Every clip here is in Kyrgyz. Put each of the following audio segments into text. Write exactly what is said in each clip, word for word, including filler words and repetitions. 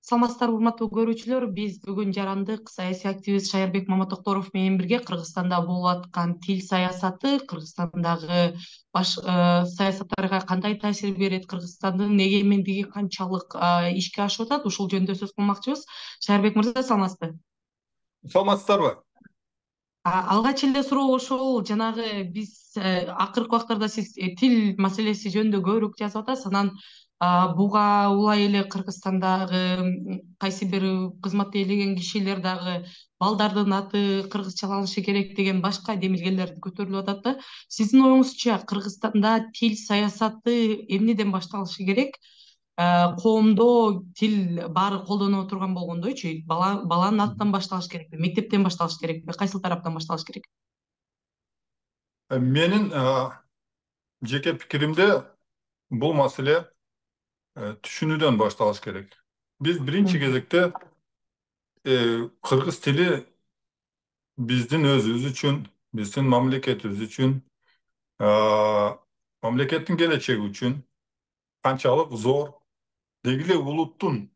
Саламатсыздарбы, урматтуу көрүүчүлөр. Биз бүгүн жарандык саясий активист Шаярбек Маматокторов менен бирге Кыргызстанда болуп аткан тил саясаты, Кыргызстандагы баш саясаттарга кандай таасир берет, Кыргызстандын эгемендиги канчалык ишке ашып атат, ушул жөнүндө сөз кылмакчыбыз. Шаярбек мырза, саламатсызбы? Саламатсыздарбы? Алгач эле суроо ошол, жанагы биз акыркы убактарда сиз тил маселеси жөнүндө көбүрөөк жазып атасыз. Анан буга улай эле Кыргызстандагы кайсы бир кызматты ээлеген кишилер дагы балдардын аты кыргызчаланышы керек деген башка демилгелер көтөрүлүп атат да. Сиздин оюңузча, Кыргызстанда тил саясаты эмнеден башталышы керек? Коомдо тил баары колдоно турган болгондойчу, бала баланын атынан башталыш керекпи, мектептен башталыш керекпи, кайсыл тараптан башталыш керек? Менин жеке пикиримде бул маселе түшүнүүдөн башталыш керек. Биз биринчи кезекте кыргыз тили биздин өзүбүз үчүн, биздин мамлекетибиз үчүн, мамлекеттин келечеги үчүн канчалык зор, деги эле улуттун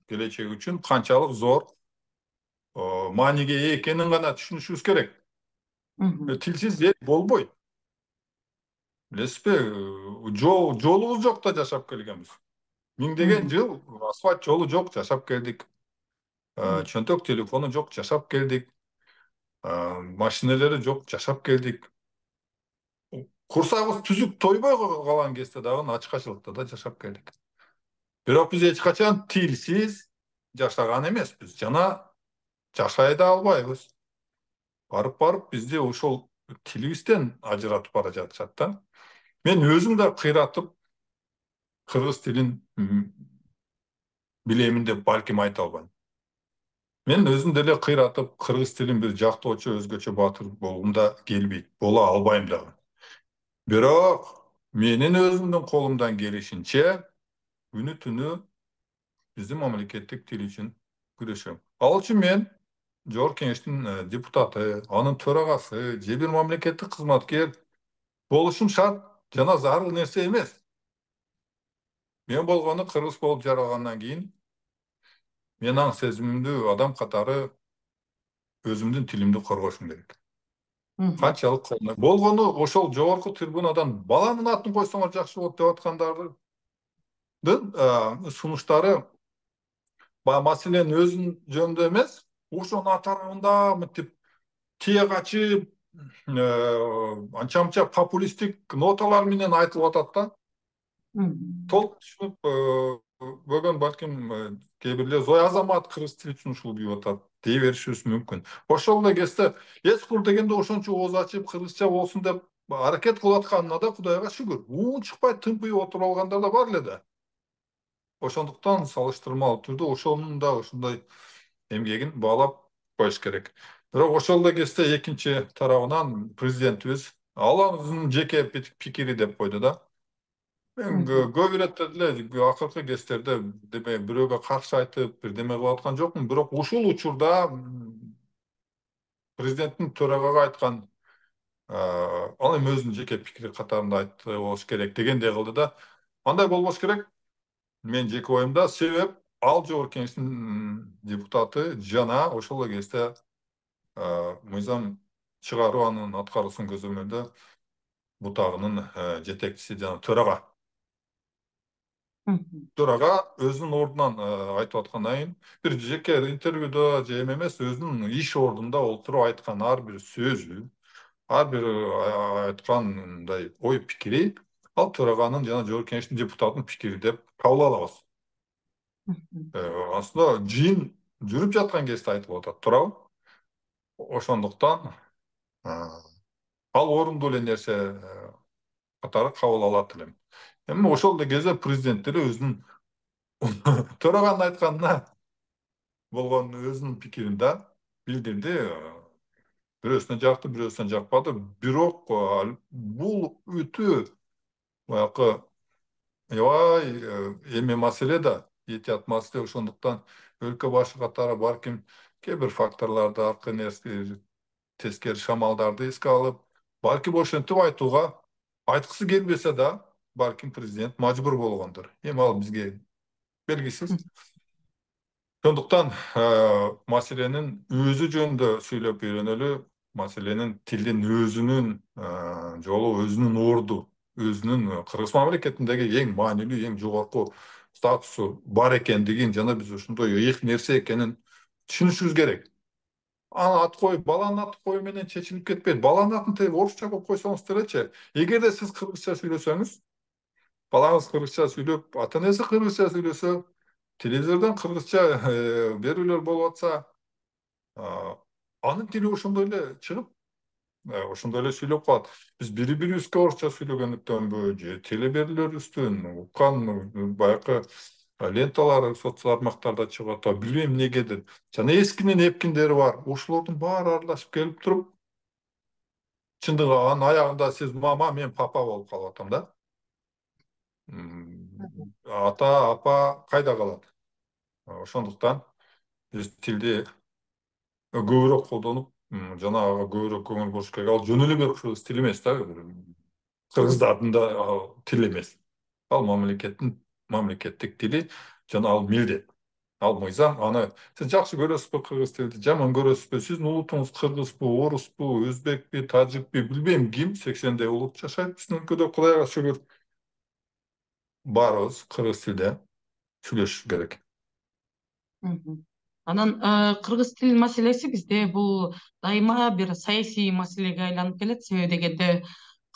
келечеги үчүн канчалык зор мааниге ээ экенин гана түшүнүшүбүз керек. Тилсиз эл болбойт. Билесизби, жолубуз жок да жашап келгенбиз. Миңдеген жыл асфальт жолу жок, жашап келдик. Чөнтөк телефону жок, жашап келдик. Машиналары жок, жашап келдик. Курсагыбыз түзүк тойбой калган кезде дагы ачкачылыкта да жашап келдик. Бирок биз эч качан тилсиз жашаган эмеспиз, жана жашай да албайбыз. Барып-барып бизди ошол тилибизден ажыратып бара жатышат да. Мен өзүм да кыйратып кыргыз тилин билемин деп балким айта албайм. Мен өзүм деле кыйратып кыргыз тилин бир жактоочу, өзгөчө баатыр болгум да келбейт, боло албайм дагы. Бирок менин өзүмдүн колумдан келишинче күнү-түнү биздин мамлекеттик тил үчүн күрөшөм. Ал үчүн мен Жогорку Кеңештин депутаты, анын төрагасы же бир мамлекеттик кызматкер болушум шарт жана зарыл нерсе эмес. Мен болгону кыргыз болуп жаралгандан кийин мен аң сезимимдүү адам катары өзүмдүн тилимди коргошум керек. Канчалык колуна болгону ошол жогорку трибунадан баланын атын койсоңор жакшы болот деп аткандардын сунуштары баягы маселенин өзүнүн жөнүндө эмес, ошонун атарабында мынтип тие качып, анча-мынча популисттик ноталар менен айтылып атат да. Толук түшүнүп бөгөн балким кээ бирлер Зоя Азамат кыргыз тили үчүн ушул күйүп атат дей беришибиз мүмкүн. Ошол эле кезде эскур дегенде ошончо ооз ачып кыргызча болсун деп аракет кылып атканына да Кудайга шүгүр. Уун чыкпай тымпыйып отуруп алгандар да бар эле да. Ошондуктан салыштырмалуу түрдө ошонун да ошондой эмгегин баалап коюш керек. Бирок ошол эле кезде экинчи тарабынан президентибиз ал өзүнүн жеке пикири деп койду да. Мен көп иретте деле акыркы кездерде деме бирөөгө каршы айтып, бирдеме кылып аткан жокмун, бирок ушул учурда президенттин төрагага айткан ал эми өзүнүн жеке пикири катарында айтты болуш керек дегендей кылды да. Андай болбош керек. Мен жеке оюмда, себеп ал Жогорку Кеңештин депутаты жана ошол эле кезде мыйзам чыгаруу анын аткаруусун көзөмөлдөө бутагынын жетекчиси жана төрага. Төрага өзүнүн ордунан айтып аткандан кийин бир жеке интервьюда же эме эмес, өзүнүн иш ордунда отуруп айткан ар бир сөзү, ар бир айткандай ой пикири ал төраганын жана Жогорку Кеңештин депутатынын пикири деп кабыл алабыз. Аслында жыйын жүрүп жаткан кезде айтылып атат, туурабы? Ошондуктан ал орундуу эле нерсе катары кабыл алат элем. Эми ошол эле кезде президент деле өзүнүн төраганын айтканына болгон өзүнүн пикирин да билдирди. Бирөөсүнө жакты, бирөөсүнө жакпады. Бирок бул өтө баягы аябай эме маселе да, этият маселе. Ошондуктан өлкө башы катары балким кээ бир факторлорду, аркы нерсе, тескери шамалдарды эске алып, балким ошентип айтууга айткысы келбесе да, балким президент мажбур болгондур. Эми ал бизге белгисиз. Ошондуктан маселенин өзү жөнүндө сүйлөп үйрөнөлү, маселенин тилдин өзүнүн жолу, өзүнүн орду, өзүнүн Кыргыз мамлекетиндеги эң маанилүү, эң жогорку статусу бар экендигин жана биз ошондой ыйык нерсе экенин түшүнүшүбүз керек. Анын ат коюу, баланын аты коюу менен чечилип кетпейт. Баланын атын тек орусча коюп койсоңуз делечи. Эгерде сиз кыргызча сүйлөсөңүз, балаңыз кыргызча сүйлөп, ата энеси кыргызча сүйлөсө, телевизордон кыргызча берүүлөр болуп атса, анын тили ошондой эле чыгып, ошондой эле сүйлөп калат. Биз бири бирибизге орусча сүйлөгөндүктөнбү же телеберүүлөрүбүздүн уккан баягы ленталар соц тармактарда чыгып атабы, билбейм эмнегедир. Жана эскинин эпкиндери бар. Ошолордун баары аралашып келип туруп, чындыгы анын аягында сиз мама, мен папа болуп калып атам да. Ата, апа кайда калат? Ошондуктан биз тилди көбүрөөк колдонуп, жана ага көбүрөөк көңүл буруш керек. Ал жөн эле бир кыргыз тили эмес да, кыргыздардын да тили эмес. Ал мамлекеттин мамлекеттик тили, жана ал милдет. Ал мыйзам. Аны сиз жакшы көрөсүзбү кыргыз тилди, жаман көрөсүзбү? Сиздин улутуңуз кыргызбы, орусбу, өзбекпи, тажикпи, билбейм ким, сексендей улут жашайт биздин өлкөдө, Кудайга шүгүр. Баарыбыз кыргыз тилде сүйлөшүш керек. Анан кыргыз тил маселеси бизде бул дайыма бир саясий маселеге айланып келет. Себеби дегенде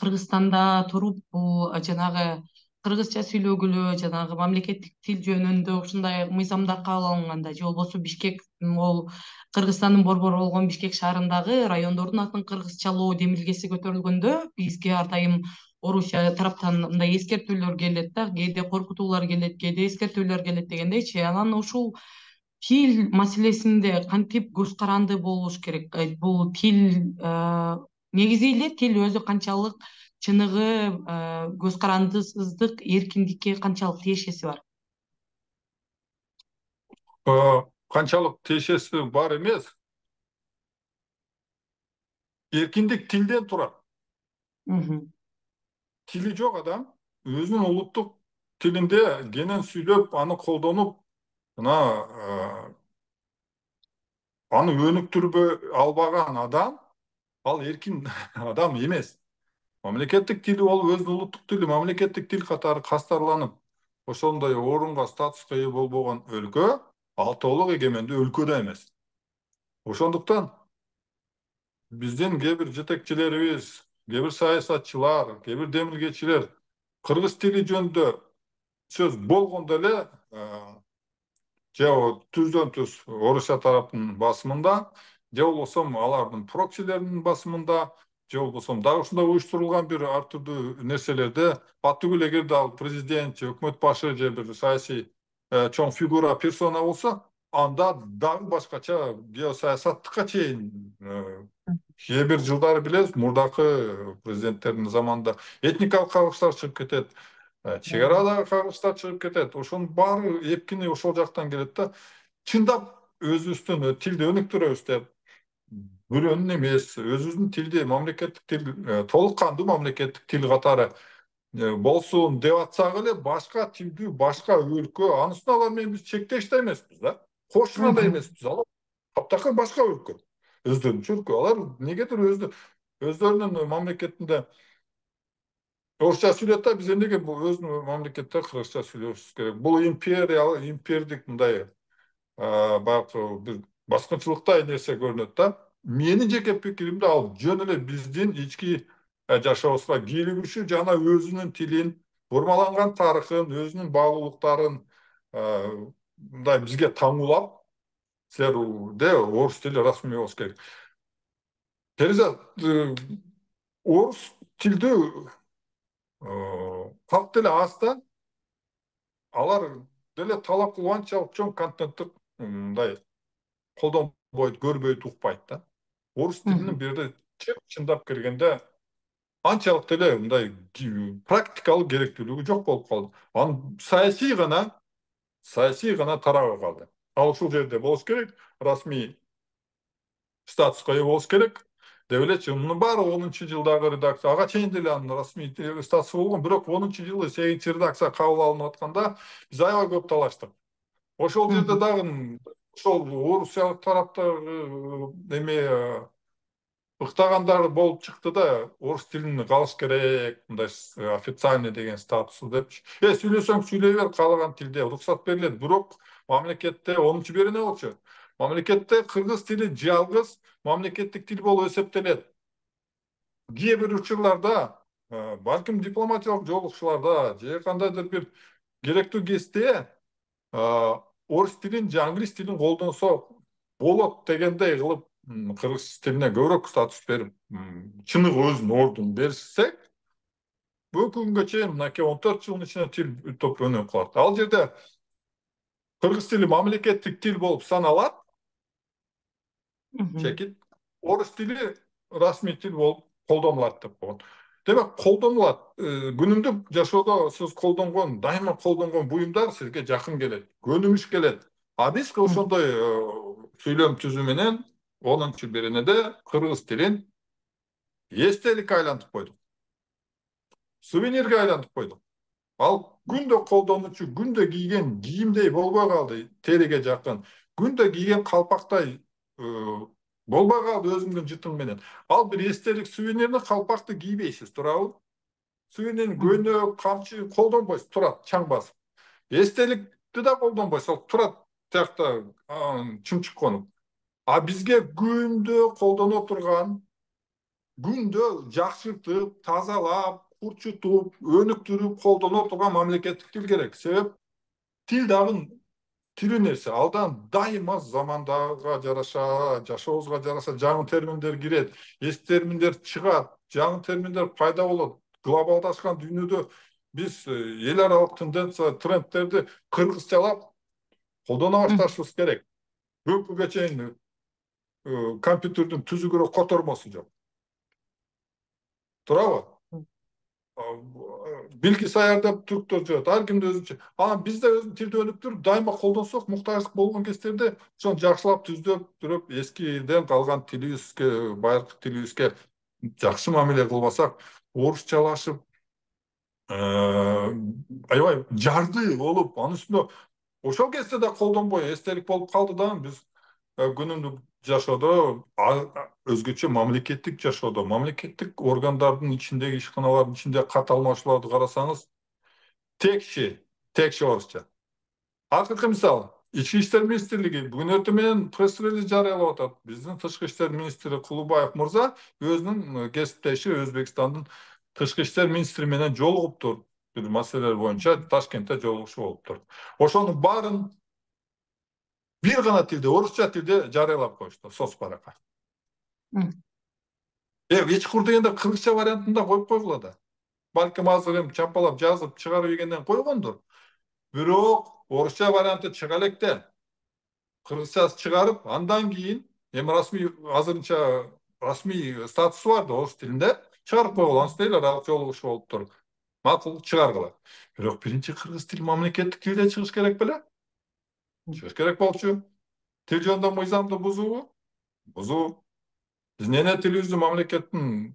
Кыргызстанда туруп бул жанагы кыргызча сүйлөгүлө, жанагы мамлекеттик тил жөнүндө ушундай мыйзамдар кабыл алынганда, же болбосо Бишкек, могул Кыргызстандын борбору болгон Бишкек шаарындагы райондордун атын кыргызчалоо демилгеси көтөрүлгөндө, бизге ар дайым Орусия тараптан мындай эскертүүлөр келет да, кээде коркутуулар келет, кээде эскертүүлөр келет дегендейчи. Анан ушул тил маселесинде кантип көз каранды болуш керек? Бул тил негизи эле тил өзү канчалык чыныгы көз карандысыздык, эркиндикке канчалык тиешеси бар? Канчалык тиешеси бар эмес. Эркиндик тилден турат. Тили жок адам өзүнүн улуттук тилинде кенен сүйлөп, аны колдонуп, мына аны өнүктүрбөй албаган адам, ал эркин адам эмес. Мамлекеттик тили бол өзүнүн улуттук тили, мамлекеттик тил катары кастарланып, ошондой орунга, статуска ээ болбогон өлкө ал толук эгемендүү өлкө да эмес. Ошондуктан биздин кээ бир жетекчилерибиз, кээ бир саясатчылар, кээ бир демилгечилер кыргыз тили жөнүндө сөз болгондо эле же түздөн түз Орусия тараптын басымында, же болбосо алардын проксилеринин басымында, же болбосо дагы ушундай уюштурулган бир ар түрдүү нерселерде баттүгүл эгерде ал президент же өкмөт башы же бир саясий чоң фигура, персона болсо, анда дагы башкача геосаясаттыкка чейин кээ бир жылдары билебиз, мурдакы президенттердин заманында этникалык кагылыштар чыгып кетет, чек арадагы кагылыштар чыгып кетет. Ошонун баары эпкини ошол жактан келет да. Чындап өзүбүздүн тилди өнүктүрөбүз деп, бирөөнүн эмес, өзүбүздүн тилди, мамлекеттик тил, толук кандуу мамлекеттик тил катары болсун деп атсак эле, башка тилдүү башка өлкө, анысына алар менен биз чектеш да эмеспиз да, кошуна да эмеспиз. Алар таптакыр башка өлкө, өздөрүнчө өлкө. Алар эмнегедир өздөрүнүн мамлекетинде орусча сүйлөт да, биз эмнеге өзүнүн мамлекетте кыргызча сүйлөшүбүз керек? Бул империялык, импердик мындай баягы бир баскынчылыктай нерсе көрүнөт да. Менин жеке пикиримде ал жөн эле биздин ички жашообузга кийлигишүү, жана өзүнүн тилин, бурмаланган тарыхын, өзүнүн баалуулуктарын мындай бизге таңуулап, силерде орус тили расмий болуш керек. Тереза орус тилдүү калк деле аз да, алар деле талап кылып анчалык чоң контенттик мындай колдонбойт, көрбөйт, укпайт да. Орус тилинин бир жерде чындап келгенде анчалык деле мындай практикалык керектүүлүгү жок болуп калды. Анын саясий гана, саясий гана тарабы калды. Ал ушул жерде болуш керек, расмий статуска ээ болуш керек деп элечи. Мунун баары онунчу жылдагы редакция, ага чейин деле анын расмий статусу болгон, бирок онунчу жылы сегизинчи редакция кабыл алынып атканда биз аябай көп талаштык. Ошол жерде дагы ошол орусиялык тараптагы эме ыктагандар болуп чыкты да, орус тилин калыш керек, мындай официальный деген статусу депчи. Э, сүйлөсөң сүйлөй бер, каалаган тилде уруксат берилет. Бирок мамлекетте онунчу берене болчу. Мамлекетте кыргыз тили жалгыз мамлекеттик тил болуп эсептелет. Кээ бир учурларда, балким дипломатиялык жолугушууларда же кандайдыр бир керектүү кезде орус тилин же англис тилин колдонсо болот дегендей кылып кыргыз тилине көбүрөөк статус берип, чыныгы өзүнүн ордун берсек, бүгүнкү күнгө чейин мынакей он төрт жылдын ичинде тил топ өнүгүп калат. Ал жерде кыргыз тили мамлекеттик тил болуп саналат, чекит, орус тили расмий тил болуп колдонулат деп койгон. Демек, колдонулат. Күнүмдүк жашоодо сиз колдонгон, дайыма колдонгон буюмдар сизге жакын келет, көнүмүш келет. А биз ошондой сүйлөм түзүү менен онунчу беренеде кыргыз тилин эстеликке айлантып койдук. Сувенирге айлантып койдук. Ал күндө колдонуучу, күндө кийген кийимдей болбой калды, териге жакын. Күндө кийген калпактай болбой калды өзүңдүн жытың менен. Ал бир эстелик сувенирни, калпакты кийбейсиз, туурабы? Сувенирин көйнөк, камчы колдонбойсуз, турат чаң басып. Эстеликти да колдонбойсуз, турат тиякта чымчык конуп. А бизге күндө колдоно турган, күндө жакшыртып, тазалап, курчутуп, өнүктүрүп колдоно турган мамлекеттик тил керек. Себеп тил дагы тирүү нерсе. Алдан дайыма замандага жараша, жашообузга жараша жаңы терминдер кирет, эски терминдер чыгат, жаңы терминдер пайда болот. Глобалдашкан дүйнөдө биз эл аралык тенденция, трендтерди кыргызчалап колдоно башташыбыз керек. Бүгүнкүгө чейин компьютердин түзүгүрө котормосу жок. Туурабы? Билгисаяр деп түрктөр жүрөт. Ар кимде өзүнчө. Анан биз да өзүн тилди өнүктүрүп, дайыма колдонсок, муктаждык болгон кездерде ошону жакшылап түздөп туруп, эскиден калган тилибизге, байыркы тилибизге жакшы мамиле кылбасак, орусчалашып, аябай жарды болуп, анын үстүнө ошол кезде да колдонбой эстелик болуп калды да, биз күнүмдүк жашоодо, өзгөчө мамлекеттик жашоодо, мамлекеттик органдардын ичиндеги ишканалардын ичинде кат алмашууларды карасаңыз, текши, текши орусча. Акыркы мисал, Ички иштер министрлиги бүгүн эртең менен пресс-релиз жарыялап атат. Биздин тышкы иштер министри Кулубаев мырза өзүнүн кесиптеши Өзбекстандын тышкы иштер министри менен жолугуптур. Бир маселелер боюнча Ташкентте жолугушуу болуптур. Ошонун баарын бир гана тилде, орусча тилде жарыялап коюшту, соцбаракка. Э, эчкур дегенде кыргызча вариантында коюп койгула да. Балким азыр эми чапалап жазып чыгарып ийгенден койгондур. Бирок орусча варианты чыга электе. Кыргызчасы чыгарып, андан кийин эми расмий азырынча расмий статусу бар да орус тилинде чыгарып койгула, анысы эл аралык жолугушуу болуптур. Макул, чыгаргыла. Бирок биринчи кыргыз тил мамлекеттик тилде чыгыш керек беле? Чыгыш керек болчу. Тил жөнүндө мыйзамды бузуубу? Бузуу. Биз эне тилибизди мамлекеттин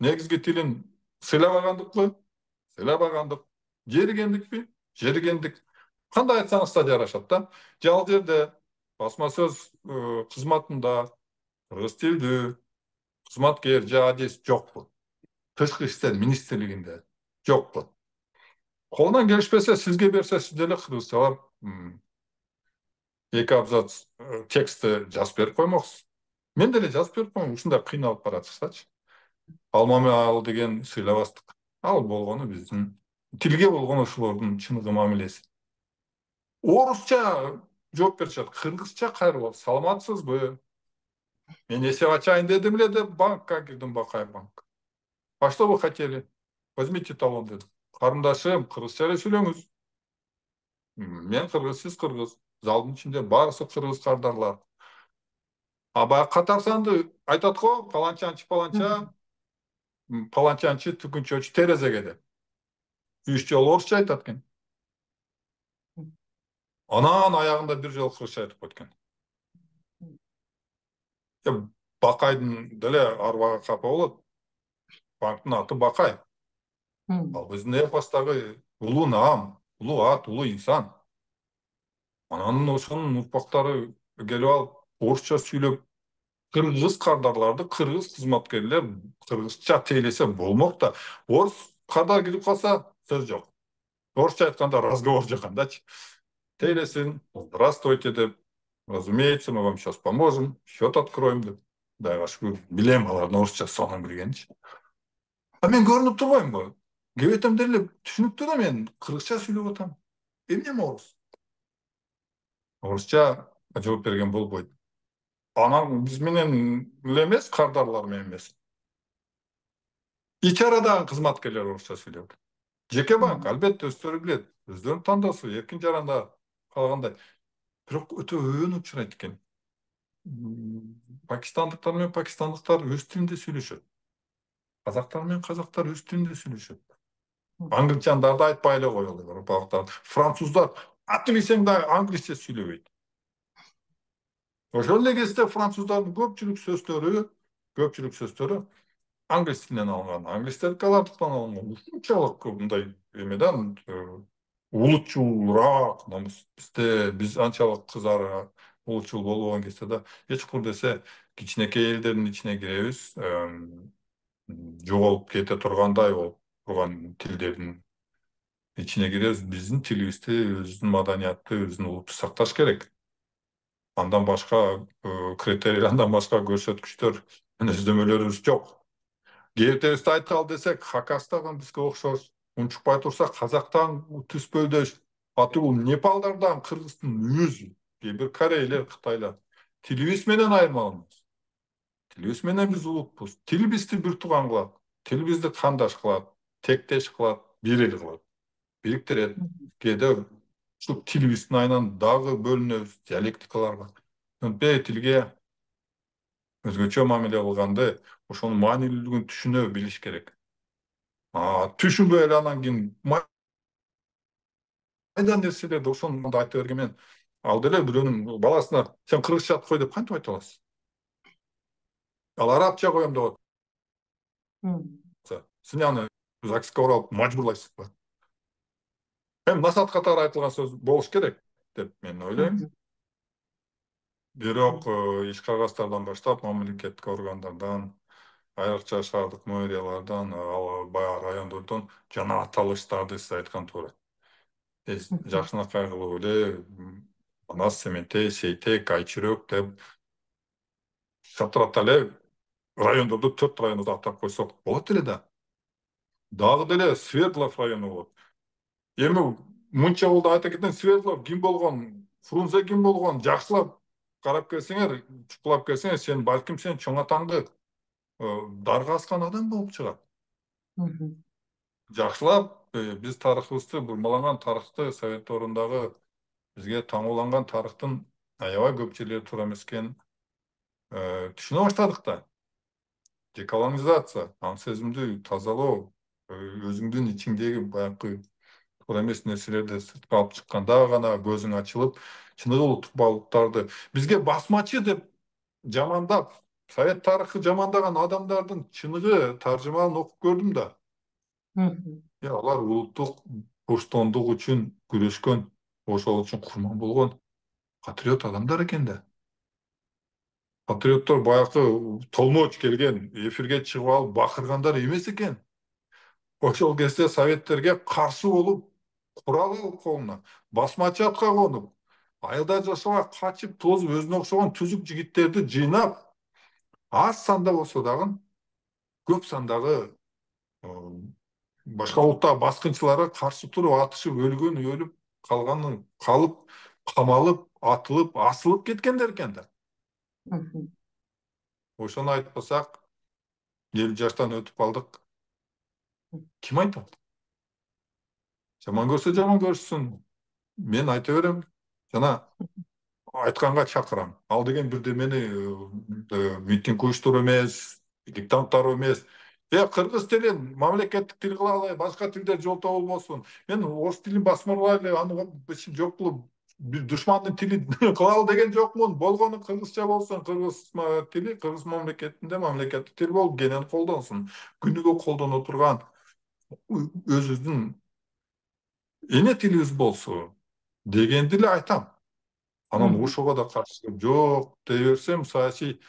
негизги тилин сыйлабагандыкпы? Сыйлабагандык. Жеригендикпи? Жеригендик. Кандай айтсаңыз да жарашат да. Же ал жерде басма сөз кызматында кыргыз тилдүү кызматкер же адис жокпу? Тышкы иштер министрлигинде жокпу? Колунан келишпесе сизге берсе, сиз деле кыргызчалап эки абзац текстти жазып берип коймоксуз. Мен деле жазып берип коймок, ушундай кыйналып баратышсачы. Алмаме ал деген сыйлабастык. Ал болгону биздин тилге болгон ошолордун чыныгы мамилеси. Орусча жооп беришет, кыргызча кайрылып, саламатсызбы? Мен эсеп ачайын дедим эле деп банкка кирдим, Бакай банк. А что вы хотели? Возьмите талон дедим. Карындашым, кыргызча эле сүйлөңүз. Мен кыргыз, сиз кыргыз. Залдын ичинде баарысы кыргыз кардарлар. А баягы катар санды айтат го, паланчанчы паланча, паланчанчы түкүнчөчү терезеге деп. Үч жолу орусча айтат экен. Анан аягында бир жолу кыргызча айтып койт экен. Бакайдын деле арбага капа болот. Банктын аты Бакай. Ал биздин эпостагы улуу наам, улуу ат, улуу инсан. Анан ошонун урпактары келип алып орусча сүйлөп, кыргыз кардарларды кыргыз кызматкерлер кыргызча тейлесе болмок да. Орус кардар кирип калса сөз жок. Орусча айтканда разговор жакандачы. Тейлесин, здравствуйте деп, разумеется, мы вам сейчас поможем, счет откроем деп. Кудайга шүгүр, билем алардын орусча сонун билгенчи. А мен көрүнүп турбаймынбы? Кебетем деле түшүнүктүү да, мен кыргызча сүйлөп атам. Эмне орус? Орусча жооп берген болбойт. Анан биз менен эле эмес, кардарлар менен эмес. Ичарадагы кызматкерлер орусча сүйлөп. Жеке банк, албетте өздөрү билет. Өздөрүнүн тандоосу, эркин жаранда калгандай. Бирок өтө өбөн учурайт экен. Пакистандыктар менен пакистандыктар өз тилинде сүйлөшөт. Казактар менен казактар өз тилинде сүйлөшөт. Англичандарды айтпай эле коелу, европалыктар. Француздар аты билсең да англисче сүйлөбөйт. Ошол эле кезде француздардын көпчүлүк сөздөрү, көпчүлүк сөздөрү англис тилинен алынган. Англистер калардыктан алынган. Ушунчалык мындай эмеден улутчулраак намыс. Бизде биз анчалык кызары улутчул болбогон кезде да эч курдесе кичинекей элдердин ичине киребиз. Жоголуп кете тургандай болуп турган тилдердин ичине киребиз. Биздин тилибизди, өзүбүздүн маданиятты, өзүбүздүн улутту сакташ керек. Андан башка критерий, андан башка көрсөткүчтөр, өздөмөлөрүбүз жок. Кебетебизди айткалы десек, Хакастагы бизге окшош. Унчукпай турса, Казактан түспөлдөш. Аты бул Непалдардан кыргыздын өзү. Кээ бир корейлер, кытайлар. Тилибиз менен айырмаланабыз. Тилибиз менен биз улутпуз. Тил бизди бир тууган кылат. Тил бизди кандаш кылат, тектеш кылат, бир эл кылат. Бириктирет. Кээде ушу тилибиздин айынан дагы бөлүнөбүз, диалектикалар бар. Антпей тилге өзгөчө мамиле кылганды, ошонун маанилүүлүгүн түшүнө билиш керек. А түшүнбөй эле анан кийин майда нерселерди ошону айта бергенмен, ал деле бирөөнүн баласына сен кыргызча кой деп кантип айта аласыз? Ал арабча коем деп атса, сен аны ЗАГСка барып мажбурлайсызбы? Эми насаат катары айтылган сөз болуш керек деп мен ойлойм. Бирок иш кагаздардан баштап мамлекеттик органдардан, айрыкча шаардык мэриялардан, баягы райондордон жана аталыштарды сиз айткан туура. Жакшынакай кылып эле Манас, Сементей, Сейтек, Айчүрөк деп шатырата эле райондорду, төрт райондорду атап койсок болот эле да. Дагы деле Свердлов району болот. Эми мынча болду айта кетейин, Свердлов ким болгон, Фрунзе ким болгон, жакшылап карап келсеңер, чукулап келсеңер, сен балким сен чоң атаңды дарга аскан адам болуп чыгат. Жакшылап биз тарыхыбызды, бурмаланган тарыхты, Совет доорундагы бизге таңууланган тарыхтын аябай көп жерлери туура эмес экенин түшүнө баштадык да. Деколонизация, аң сезимди тазалоо, өзүңдүн ичиңдеги баягы туура эмес нерселерди сыртка алып чыкканда гана көзүң ачылып, чыныгы улуттук баалуулуктарды бизге басмачы деп жамандап, Совет тарыхы жамандаган адамдардын чыныгы таржымалын окуп көрдүм да. Алар улуттук боштондук үчүн күрөшкөн, ошол үчүн курман болгон патриот адамдар экен да. Патриоттор баягы толмоч келген, эфирге чыгып алып бакыргандар эмес экен. Ошол кезде советтерге каршы болуп, курал алып колуна, басмачы атка конуп, айылда жашабай качып тозуп, өзүнө окшогон түзүк жигиттерди жыйнап, аз санда болсо дагы көп сандагы башка улуттагы баскынчыларга каршы туруп, атышып, өлгөн өлүп, калганын калып, камалып, атылып, асылып кеткендер экен да. Ошону айтпасак, элүү жаштан өтүп калдык. Ким айтат? Жаман көрсө жаман көрсүн. Мен айта берем, жана айтканга чакырам. Ал деген бирдемени митинг уюштуруу эмес, диктанттар эмес. Э, кыргыз тилин мамлекеттик тил кыла алай, башка тилдер жолто болбосун. Мен орус тилин басмырлай эле, аны жок кылып, бир душмандын тили кылалы деген жокмун. Болгону кыргызча болсун, кыргыз тили кыргыз мамлекетинде мамлекеттик тил болуп кенен колдонсун. Күнүгө колдоно турган өзүбүздүн эне тилибиз болсун дегенди эле айтам. Анан ошого да каршылык жок дей берсем, саясий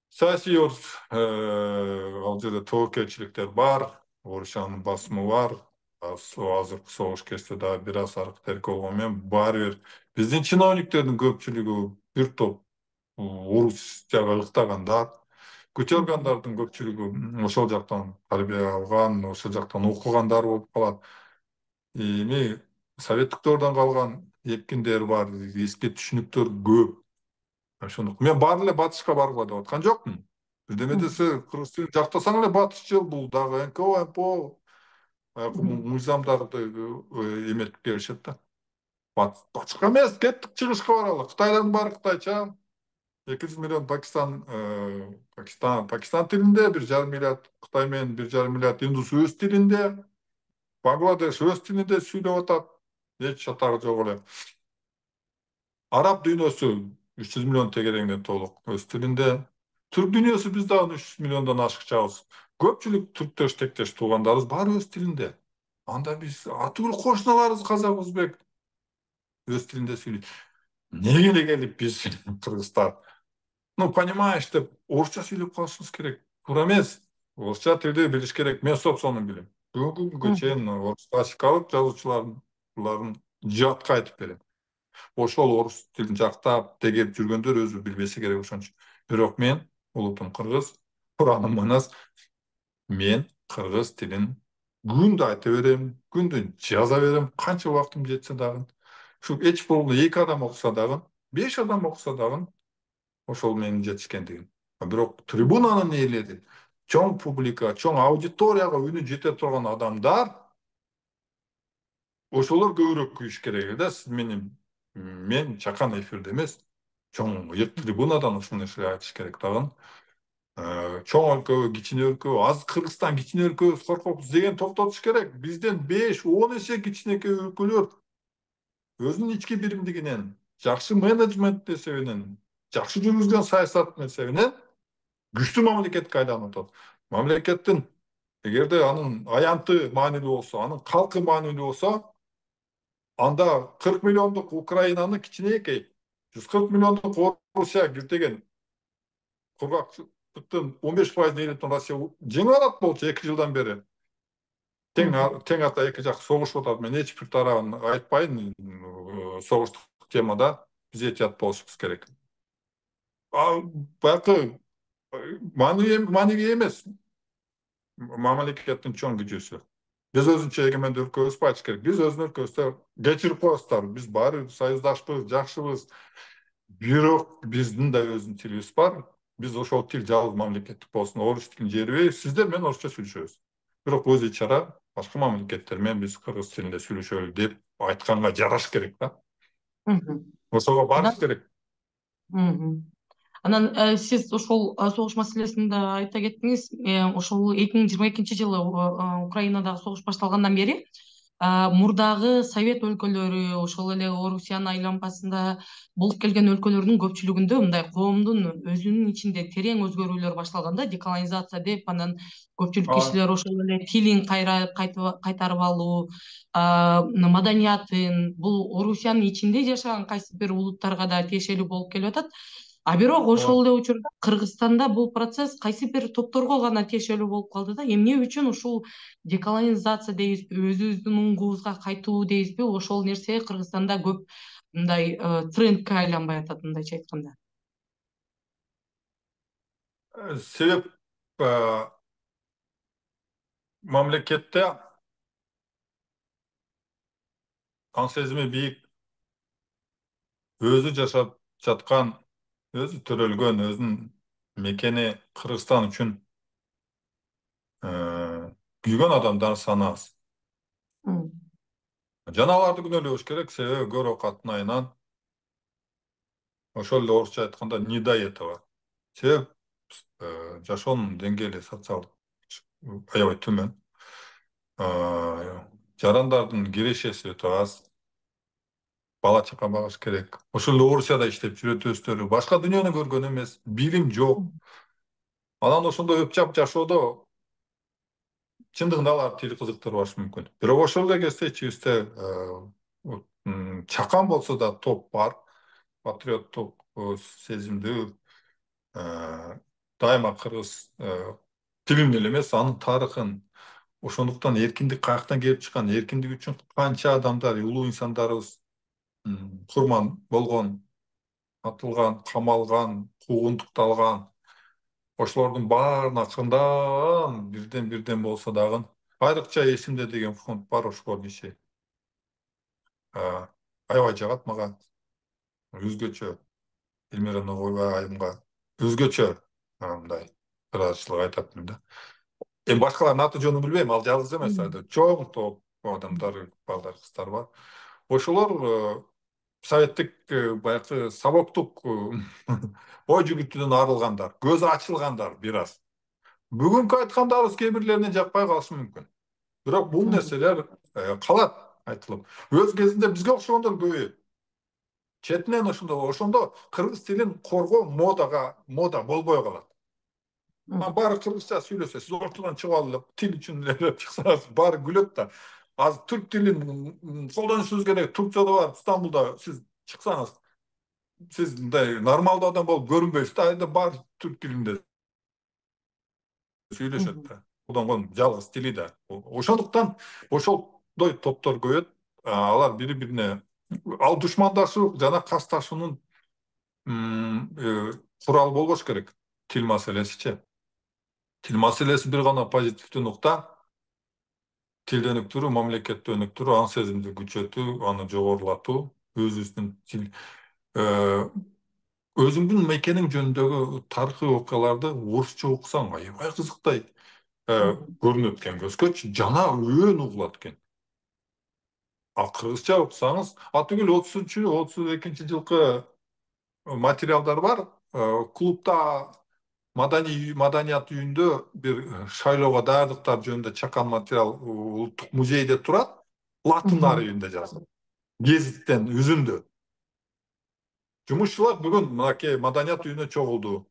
саясий ал жерде тобокелчиликтер бар, Орусиянын басымы бар. Азыркы согуш кезде дагы бир аз аракет болгону менен баары бир биздин чиновниктердин көпчүлүгү бир топ Орусияга ыктагандар, көчөргандардын көпчүлүгү ошол жактан тарбия алган, ошол жактан окугандар болуп калат. Эми советтик дöwөрдөн калган эпкиндер бар, эски түшүнүктөр көп. Ошондуктан мен баары эле батышка баргыла деп аткан жокмун. Бирдеме десе кыргыз тилин жактасаң эле батышчыл, бул дагы эн ка о эм п о мыйзамдарды эметип келишет да. Батышка эмес, кеттик чыгышка баралы. Кытайдын баары кытайча. эки жүз миллион Пакистан Пакистан Пакистан тилинде, бир жарым миллиард Кытай менен бир жарым миллиард индус өз тилинде, Бангладеш өз тилинде сүйлөп атат. Эч чатагы жок эле. Араб дүйнөсү үч жүз миллион тегереңден толук өз тилинде. Түрк дүйнөсү биз дагы үч жүз миллиондон ашыкчабыз. Көпчүлүк түрктөш тектеш туугандарыбыз баары өз тилинде. Анда биз атүгүл кошуналарыбыз казак, өзбек өз тилинде сүйлөйт. Эмнеге эле келип биз кыргыздар, ну понимаешь деп орусча сүйлөп калышыбыз керек? Туура эмес. Орусча тилди билиш керек. Мен собственно билем. Бүгүнкү күнгө чейин орус классикалык жазуучулардын жатка айтып берем. Ошол орус тилин жактап, тегеп жүргөндөр өзү билбесе керек ошончу. Бирок мен улутум кыргыз, ураным манас. Мен кыргыз тилин күндө айта берем, күндө жаза берем, канча убактым жетсе дагы. Ушу эч болбогондо эки адам окуса дагы, беш адам окуса дагы ошол менин жетишкендигим. Бирок трибунанын ээлери, чоң публика, чоң аудиторияга үнү жете турган адамдар, ошолор көбүрөөк күйүш керек да. Сиз менин мен чакан эфирде эмес, чоң ыйык трибунадан ушул нерсе айтыш керек дагы. Чоң өлкө, кичине өлкө, аз Кыргызстан кичине өлкө, коркопуз деген токтотуш керек. Бизден беш он эсе кичинекей өлкөлөр өзүнүн ички биримдигинен, жакшы менеджмент эсебинен, жакшы жүргүзгөн саясат эсебинен күчтүү мамлекетке айланып атат. Мамлекеттин эгерде анын аянты маанилүү болсо, анын калкы маанилүү болсо, анда кырк миллиондук Украинаны кичинекей, жүз кырк миллиондук Орусия киртеген кургактыктын он беш пайызын ээлейтин Россия жеңип алат болчу эки жылдан бери. Тең тең ата эки жак согушуп атат. Мен эч бир тарабын айтпайын. Согуштук темада биз этият болушубуз керек. Баягы маанилүү эмес. Мамлекеттин чоң күчүсү. Биз өзүнчө эгемендүү өлкөбүз айтыш керек. Биз өзүнүн өлкөбүздө кечирип коебуздар. Биз баары союздашпыз, жакшыбыз. Бирок биздин да өзүнүн тилибиз бар. Биз ошол тил жалгыз мамлекеттик болсун, орус тилин жерибей, сиздер менен орусча сүйлөшөбүз. Бирок өз ичара башка мамлекеттер менен биз кыргыз тилинде сүйлөшөлү деп айтканга жараш керек да. Ошого барыш керек. Анан сиз ошол согуш маселесин да айта кеттиңиз. Ошол эки миң жыйырма экинчи жылы Украинадагы согуш башталгандан бери мурдагы совет өлкөлөрү, ошол эле Орусиянын айланмасында болуп келген өлкөлөрдүн көпчүлүгүндө мындай коомдун өзүнүн ичинде терең өзгөрүүлөр башталган да, деколонизация деп. Анан көпчүлүк кишилер ошол эле тилин кайтарып алуу, маданиятын, бул Орусиянын ичинде жашаган кайсы бир улуттарга да тиешелүү болуп келип атат. А бирок ошол эле учурда Кыргызстанда бул процесс кайсы бир топторго гана тиешелүү болуп калды да. Эмне үчүн ушул деколонизация дейбизби, өзүбүздүн уңгубузга кайтуу дейбизби, ошол нерсе Кыргызстанда көп мындай трендке айланбай атат, мындайча айтканда? Себеп мамлекетте аң сезими бийик, өзү жашап жаткан, өзү төрөлгөн, өзүнүн мекени Кыргызстан үчүн күйгөн адамдар саны аз. Жана аларды күнөөлөбүш керек, себеби көрөк аттын айынан ошол эле орусча айтканда недоето бар. Себеп жашоонун деңгээли социалдык аябай төмөн. Жарандардын кирешеси өтө аз. Бала чака багыш керек. Ошол эле Орусияда иштеп жүрөт өздөрү. Башка дүйнөнү көргөн эмес, билим жок. Анан ошондой өпчап жашоодо чындыгында алар тил кызыктырбашы мүмкүн. Бирок ошол эле кезде ичибизде чакан болсо да топ бар. патриоттук сезимдүү, дайыма кыргыз тилин эле эмес, анын тарыхын, ошондуктан эркиндик каяктан келип чыккан, эркиндик үчүн канча адамдар, улуу инсандарыбыз курман болгон, атылган, камалган, куугунтукталган, ошолордун баарына акырындан бирден бирден болсо дагы айрыкча эсимде деген фонд бар, ошолордун иши аябай жагат мага. Өзгөчө Элмира Ногойбай айымга өзгөчө мындай ыраазычылык айтатмын да. Эми башкалардын аты жөнүн билбейм, ал жалгыз эмес, айда чоң топ адамдар, балдар, кыздар бар. Ошолор советтик баягы сабоктук ой жүгүртүүдөн арылгандар, көзү ачылгандар бир аз. Бүгүнкү айткандарыбыз кээ бирлерине жакпай калышы мүмкүн. Бирок бул нерселер калат айтылып. Өз кезинде бизге окшогондор көбөйөт. Четинен ошондо ошондо кыргыз тилин коргоо модага мода болбой калат. Баары кыргызча сүйлөсө, сиз ортодон чыгып алып тил үчүн эле чыксаңыз баары күлөт да. Азыр түрк тилин колдонушубуз керек. Туркчада бар, Стамбулда сиз чыксаңыз, сиз мындай нормалдуу адам болуп көрүнбөйсүз да, айда бар түрк тилинде сүйлөшөт да. Колдонгон жалгыз тили да. Ошондуктан ошондой топтор көбөйөт. Алар бири-бирине ал душмандашуу жана касташуунун куралы болбош керек. Тил маселесичи. Тил маселеси бир гана позитивдүү нукта. Тилди өнүктүрүү, мамлекетти өнүктүрүү, аң сезимди күчөтүү, аны жогорулатуу, өзүбүздүн тил өзүңдүн мекениң жөнүндөгү тарыхый окуяларды орусча окусаң аябай кызыктай көрүнөт экен көзгөчү, жана өөн угулат экен. А кыргызча окусаңыз, атүгүл отузунчу отуз экинчи жылкы материалдар бар. Клубда маданият үйүндө бир шайлоого даярдыктар жөнүндө чакан материал улуттук музейде турат. Латын арабинде жазылып. Гезиттен үзүндү. Жумушчулар бүгүн мынакей маданият үйүнө чогулду.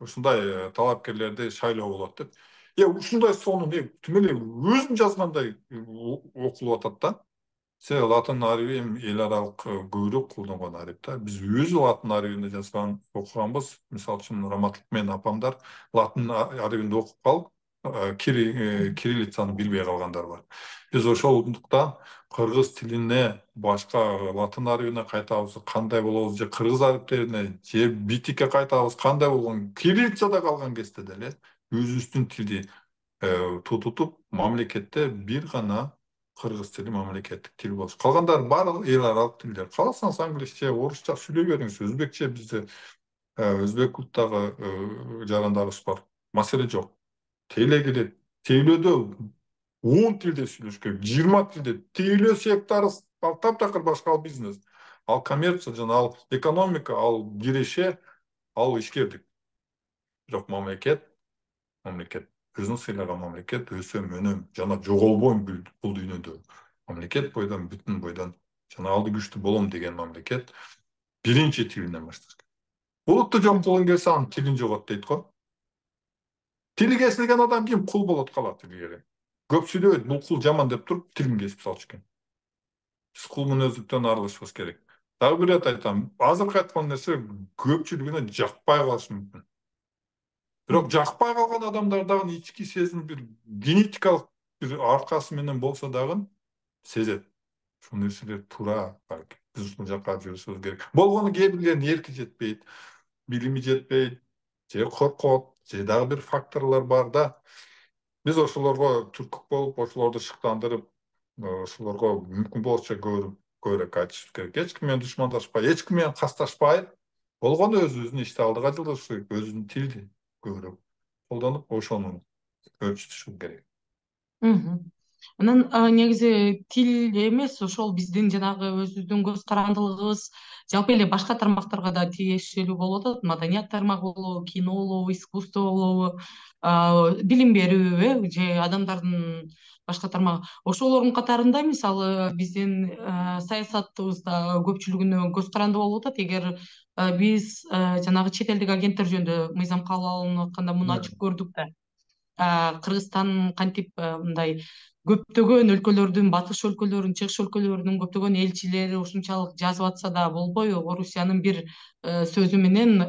Ушундай талапкерлерди шайлоо болот деп. Э ушундай сонун тим эле өзүм жазгандай окулуп атат да. Се латын арабы эми эл аралык көбүрөөк колдонгон араб да. Биз өзү латын арабинде жазган окуганбыз. Мисалы үчүн Раматылык менен апамдар латын арабинде окуп калып, кириллицаны билбей калгандар бар. Биз ошондуктан кыргыз тилине башка латын арабине кайтабыз, кандай болобуз, же кыргыз арабтерине, же битикке кайтабыз, кандай болгон, кириллицада калган кезде деле өзүбүздүн тилди тутутуп, мамлекетте бир гана кыргыз тили мамлекеттик тил болсун. Калгандары баары эл аралык тилдер. Кааласаңыз англисче, орусча сүйлөй бериңиз, өзбекче бизде өзбек улуттагы жарандарыбыз бар. Маселе жок. Тейле келет. Тейлөөдө он тилде сүйлөш керек, жыйырма тилде. Тейлөө сектору ал таптакыр башка, ал бизнес. Ал коммерция жана ал экономика, ал киреше, ал ишкердик. Бирок мамлекет, мамлекет өзүн сыйлаган мамлекет, өсөм, өнөм жана жоголбойм бул дүйнөдө. Мамлекет бойдон, бүтүн бойдон жана алды күчтүү болом деген мамлекет биринчи тилинен башташ керек. Улутту жок кылгың келсе, анын тилин жогот дейт го. Тили кесилген адам ким? Кул болот калат илгери. Көп сүйлөбөйт, бул кул жаман деп туруп тилин кесип салчу экен. Биз кул мүнөздүктөн арылышыбыз керек. Дагы бир рет айтам, азыркы айткан нерсе көпчүлүгүнө жакпай калышы мүмкүн. Бирок жакпай калган адамдардагы ички сезим бир генетикалык бир аркасы менен болсо дагы сезет. Ушул нерселер туура, биз ушул жакка жүрүшүбүз керек. Болгону кээ бирлеринин эрки жетпейт, билими жетпейт, же коркот, же дагы бир факторлор бар да. Биз ошолорго түрткү болуп, ошолорду шыктандырып, ошолорго мүмкүн болушунча көбүрөөк айтышыбыз керек. Эч ким менен душмандашпай, эч ким менен касташпай, болгону өзүбүздүн ишти алдыга жылжышыбыз керек, өзүбүздүн тилди көбүрөөк колдонуп, ошону өрчүтүшүбүз керек. Анан негизи тил эмес, ошол биздин жанагы өзүбүздүн көз карандылыгыбыз жалпы эле башка тармактарга да тиешелүү болуп атат. Маданият тармагы болобу, кино болобу, искусство болобу, билим берүү, же адамдардын башка тармагы. Ошолордун катарында мисалы биздин саясатыбызда көпчүлүгүнө көз каранды болуп атат. Эгер биз жанагы чет элдик агенттер жөнүндө мыйзам кабыл алынып атканда муну ачык көрдүк да. Кыргызстан кантип мындай көптөгөн өлкөлөрдүн, батыш өлкөлөрүнүн, чыгыш өлкөлөрүнүн көптөгөн элчилери ушунчалык жазып атса да болбой, Орусиянын бир сөзү менен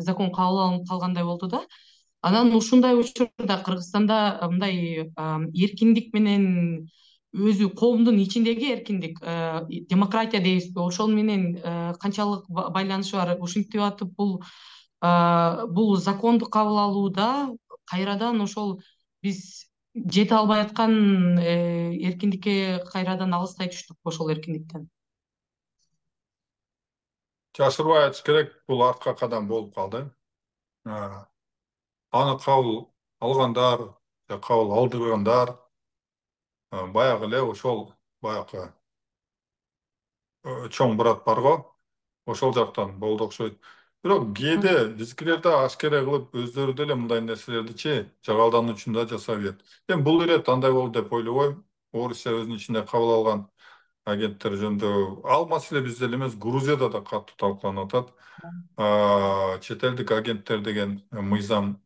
закон кабыл алынып калгандай болду да. Анан ушундай учурда Кыргызстанда мындай эркиндик менен өзү коомдун ичиндеги эркиндик, демократия дейбизби, ошол менен канчалык байланышы бар? Ушинтип атып бул бул законду кабыл алууда кайрадан ошол биз жете албай аткан эркиндикке кайрадан алыстай түштүкпү ошол эркиндиктен? Жашырбай айтыш керек, бул артка кадам болуп калды. Аны кабыл алгандар, кабыл алдыргандар баягы эле ошол баягы чоң брат бар го, ошол жактан болду окшойт. Бирок кээде биздикилер да ашкере кылып өздөрү деле мындай нерселердичи жагалдануу үчүн да жасай берет. Эми бул ирет андай болду деп ойлобойм. Орусия өзүнүн ичинде кабыл алган агенттер жөнүндө ал маселе бизде эле эмес, Грузияда да катуу талкууланып атат. Чет элдик агенттер деген мыйзамды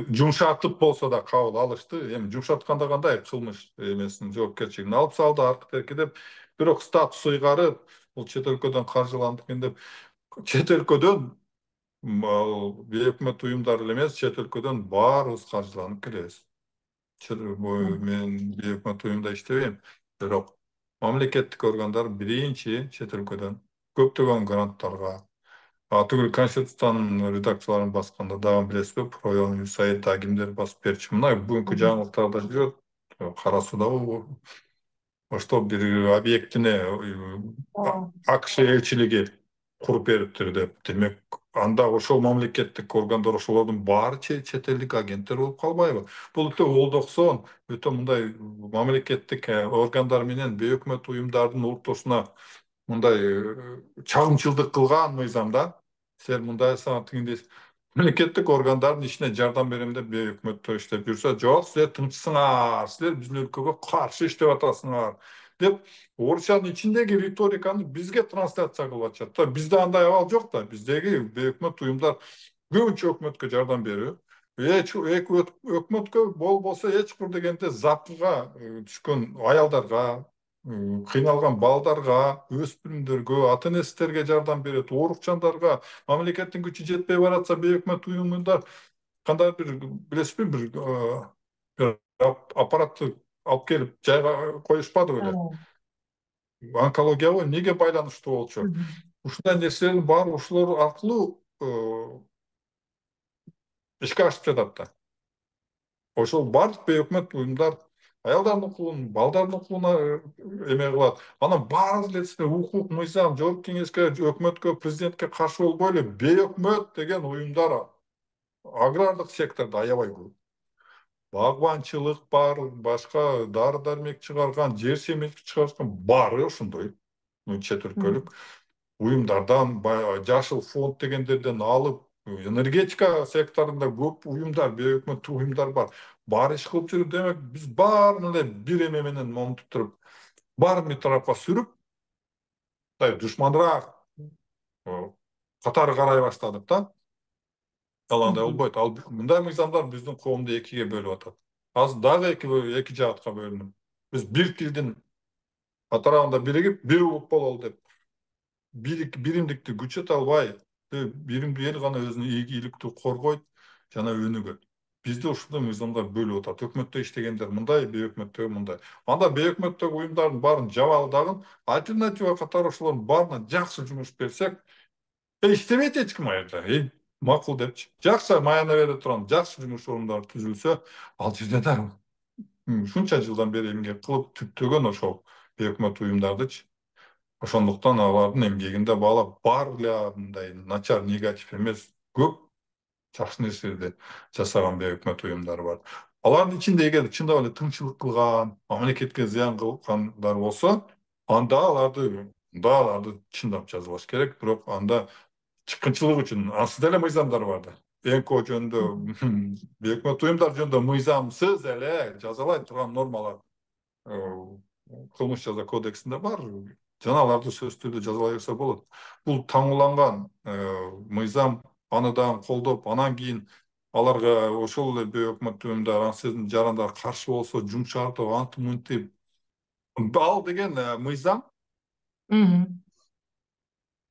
жумшатып болсо да кабыл алышты. Эми жумшатканда кандай кылмыш эмесин жоопкерчилигин алып салды аркы терки деп. Бирок статус ыйгарып, бул чет өлкөдөн каржыландык деп, чет өлкөдөн бейөкмөт уюмдар эле эмес, чет өлкөдөн баарыбыз каржыланып келебиз. Мен бейөкмөт уюмда иштебейм, бирок мамлекеттик органдар биринчи чет өлкөдөн көптөгөн гранттарга, түгүл Конституциянын редакцияларын басканда дагы билесизби, Проон Юсаид да кимдер басып берчү. Мына бүгүнкү жаңылыктарда жүрөт, Кара Суда ошто бир объектине АКШ элчилиги куруп бериптир деп. Демек, анда ошол мамлекеттик органдар ошолордун баары чет элдик агенттер болуп калбайбы? Бул өтө олдоксон, өтө мындай мамлекеттик органдар менен бейөкмөт уюмдардын уртосуна мындай чагымчылдык кылган мыйзам да. Сен мындай сага тигиндейсиң. Мемлекеттик органдардын ишине жардам берем деп бейөкмөттөр иштеп жүрсө, жок, силер тынчсыңар, силер биздин өлкөгө каршы иштеп атасыңар деп Орусиянын ичиндеги риториканы бизге трансляция кылып атышат. Бизде андай абал жок да. Биздеги бейөкмөт уюмдар көбүнчө өкмөткө жардам берүү. Эки өкмөткө болбосо эч бир дегенде запкыга түшкөн аялдарга, кыйналган балдарга, өспүрүмдөргө, ата энестерге жардам берет, оорукчандарга, мамлекеттин күчү жетпей баратса бейөкмөт уюмдар кандай бир билесизби, бир аппаратты алып келип жайга коюшпады беле. Онкологияга эмнеге байланыштуу болчу? Ушундай нерселердин баары ушулар аркылуу ишке ашып жатат да. Ошол бардык бейөкмөт уюмдар аялдардын укугун, балдардын укугуна эме кылат. Анан баары эле укук, мыйзам, жогорку кеңешке, өкмөткө, президентке каршы болбой эле бейөкмөт деген уюмдар агрардык секторду аябай көп. Багбанчылык бар, башка дары дармек чыгарган, жер семетик чыгарган баары ошондой чет өлкөлүк уюмдардан, жашыл фонд дегендерден алып, энергетика секторунда көп уюмдар, бейөкмөт уюмдар бар. Баары иш кылып жүрүп, демек биз баарын эле бир эме менен момунтуп туруп, баарын бир тарапка сүрүп, мындай душманыраак катары карай баштадык да. Ал андай болбойт. Ал мындай мыйзамдар биздин коомду экиге бөлүп атат. Азыр дагы эки эки жаатка бөлүнүп. Биз бир тилдин атарабында биригип, бир улут бололу деп биримдикти күчөтө албай, биримдүү эл гана өзүнүн ийгиликтүү коргойт жана өнүгөт. Бизде ушундай мыйзамдар бөлүп атат. Өкмөттө иштегендер мындай, бейөкмөттөгү мындай. Анда бейөкмөттөгү уюмдардын баарын жабалдагын, альтернатива катары ошолордун баарына жакшы жумуш берсек, иштебейт эч ким аерда. Макул депчи. Жакшы маяна бере турган жакшы жумуш орундары түзүлсө, ал жерде да ушунча жылдан бери эмгек кылып түптөгөн ошол бейөкмөт уюмдардычы. Ошондуктан алардын эмгегинде баалап баары эле мындай начар, негатив эмес, көп жакшы нерселерди жасаган бейөкмөт уюмдар бар. Алардын ичинде эгер чындап эле тыңчылык кылган, мамлекетке зыян кылгандар болсо, анда аларды, да аларды чындап жазалаш керек, бирок анда чыккынчылык үчүн ансыз деле мыйзамдар бар да. ЭНКО жөнүндө, бейөкмөт уюмдар жөнүндө мыйзамсыз эле жазалай турган нормалар кылмыш жаза кодексинде бар. Жана аларды сөзсүз түрдө жазалай берсе болот. Бул таңууланган мыйзам, аны дагы колдоп, анан кийин аларга ошол эле бейөкмөт төмөндөр ансыздын жарандар каршы болсо жумшартып антип мынтип, ал деген мыйзам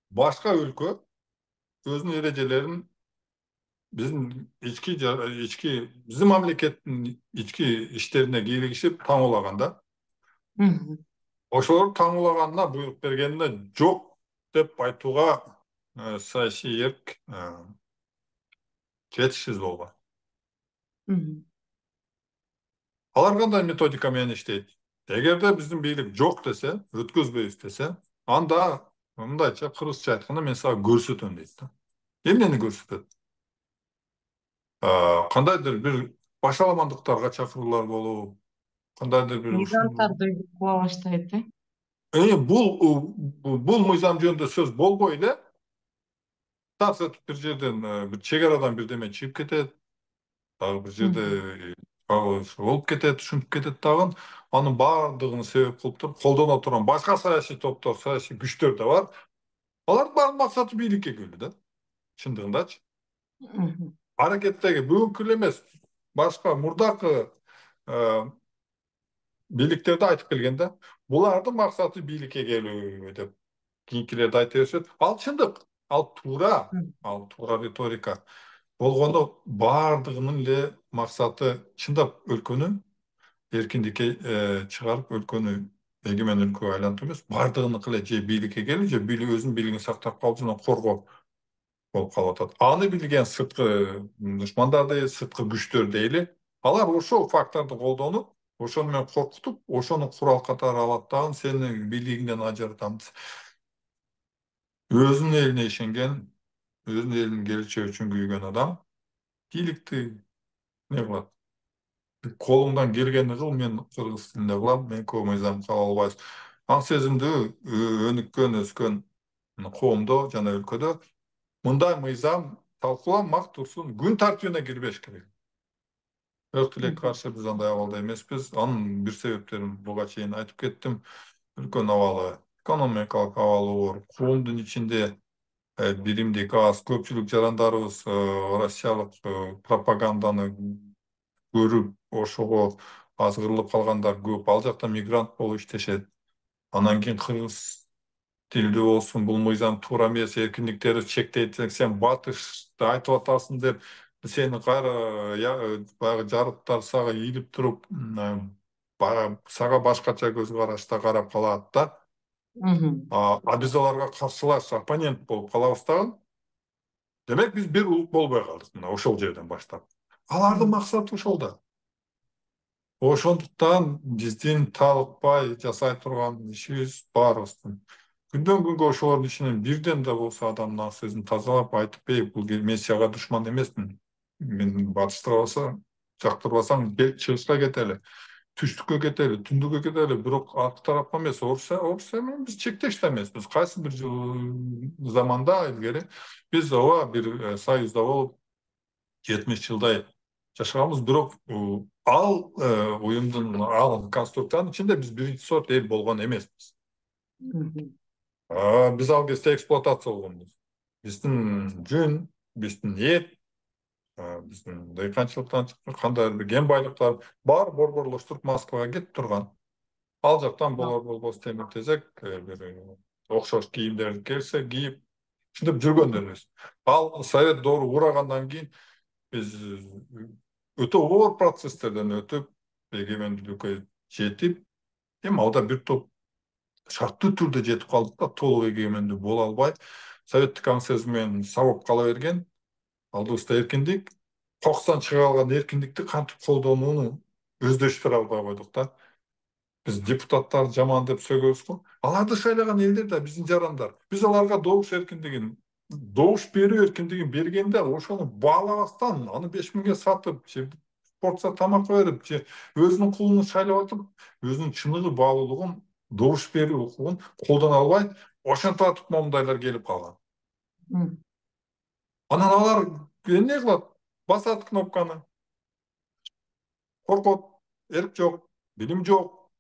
башка өлкө өзүнүн эрежелерин биздин ички ички биздин мамлекеттин ички иштерине кийлигишип таңуулаган да. Ошолор таңуулаганына буйрук бергенине жок деп айтууга саясий эрк жетишсиз болгон. Алар кандай методика менен иштейт? Эгерде биздин бийлик жок десе, өткөзбөйбүз десе, анда мындайча кыргызча айтканда мен сага көрсөтөм дейт да. Эмнени көрсөтөт? Кандайдыр бир башаламандыктарга чакыруулар болуп, кандайдыр бир мигранттарды кыла баштайт э? Э, бул бул мыйзам жөнүндө сөз болбой эле бир жерден бир чек арадан бирдеме чыгып кетет, дагы бир жерде болуп кетет, ушинтип кетет дагы. Анын баардыгын себеп кылып туруп колдоно турган башка саясий топтор, саясий күчтөр да бар. Алардын баардык максаты бийликке келүү да. Чындыгындачы. Аракеттеги бүгүнкү эле эмес, башка мурдакы бийликтерди айтып келген да. Булардын максаты бийликке келүү деп кийинкилерди айта беришет. Ал чындык, ал туура, ал туура риторика. Болгондо баардыгынын эле максаты чындап өлкөнү эркиндикке чыгарып, өлкөнү эгемен өлкөгө айлантуу эмес, баардыгыныкы эле же бийликке келүү, же бийлик өзүнүн бийлигин сактап калып, жана коргоо болуп калып атат. Аны билген сырткы душмандар, сырткы күчтөр дейли, алар ошол факторду колдонуп, ошону менен коркутуп, ошону курал катары алат дагы, сени бийлигиңден ажыратабыз. Өзүнүн элине ишенген, өзүнүн элинин келечеги үчүн күйгөн адам бийликти не кылат? Колуңдан келгени кыл, мен кыргыз тилинде кылам, мен көп мыйзам кабыл албайбыз. Аң сезимдүү өнүккөн, өскөн коомдо жана өлкөдө мындай мыйзам талкууламак турсун, күн тартибине кирбеш керек. Бирок тилекке каршы биз андай абалда эмеспиз. Анын бир себептерин буга чейин айтып кеттим. Өлкөнүн абалы, экономикалык абалы оор, коомдун ичинде биримдик аз, көпчүлүк жарандарыбыз россиялык пропаганданы көрүп, ошого азгырылып калгандар көп. Ал жакта мигрант болуп иштешет. Анан кийин кыргыз тилдүү болсун, бул мыйзам туура эмес, эркиндиктерди чектейт, сен батышты айтып атасың деп сени кайра баягы жарыптар сага ийилип туруп, сага башкача көз карашта карап калат да. А биз аларга каршылаш, оппонент болуп калабыз дагы. Демек биз бир улут болбой калдык мына ошол жерден баштап. Алардын максаты ошол да. Ошондуктан биздин талыкпай жасай турган ишибиз баарыбыздын. Күндөн күнгө ошолордун ичинен бирден да болсо адамдын ак сезин тазалап айтып, эй, бул мен сага душман эмесмин. Мени батыштырбаса, жактырбасаң, кел чыгышка кетели, түштүккө кетели, түндүккө кетели, бирок аркы тарапка эмес, орусия орусия менен биз чектеш да эмеспиз. Кайсы бир заманда илгери биз ооба бир союзда болуп жетимиш жылдай жашаганбыз, бирок ал уюмдун, ал конструкциянын ичинде биз биринчи сорт эл болгон эмеспиз. Биз ал кезде эксплуатация болгонбуз. Биздин жүн, биздин эт, биздин дыйканчылыктан чыккан кандайдыр бир кен байлыктар бар борборлоштуруп Москвага кетип турган. Ал жактан болор болбос темир тезек, бир окшош кийимдерди келсе кийип, ушинтип жүргөндөрбүз. Ал совет доору курагандан кийин биз өтө оор процесстерден өтүп, эгемендүүлүккө жетип, эми алда бир топ шарттуу түрдө жетип калдык да, толук эгемендүү боло албай, советтик аң сезим менен сабап кала берген. Алдыбызда эркиндик, кокустан чыга алган эркиндикти кантип колдонууну өздөштүрө албай койдук да. Биз депутаттарды жаман деп сөгөбүз го. Аларды шайлаган элдер да биздин жарандар. Биз аларга добуш эркиндигин, добуш берүү эркиндигин бергенде, ошону баалабастан, аны беш миңге сатып, же порция тамакка берип, же өзүнүн кулун шайлап атып, өзүнүн чыныгы баалуулугун, добуш берүү укугун колдоно албай, ошентип атып момундайлар келип калган. Анан алар эмне кылат? Басат кнопканы. Коркот, эрк жок, билим жок.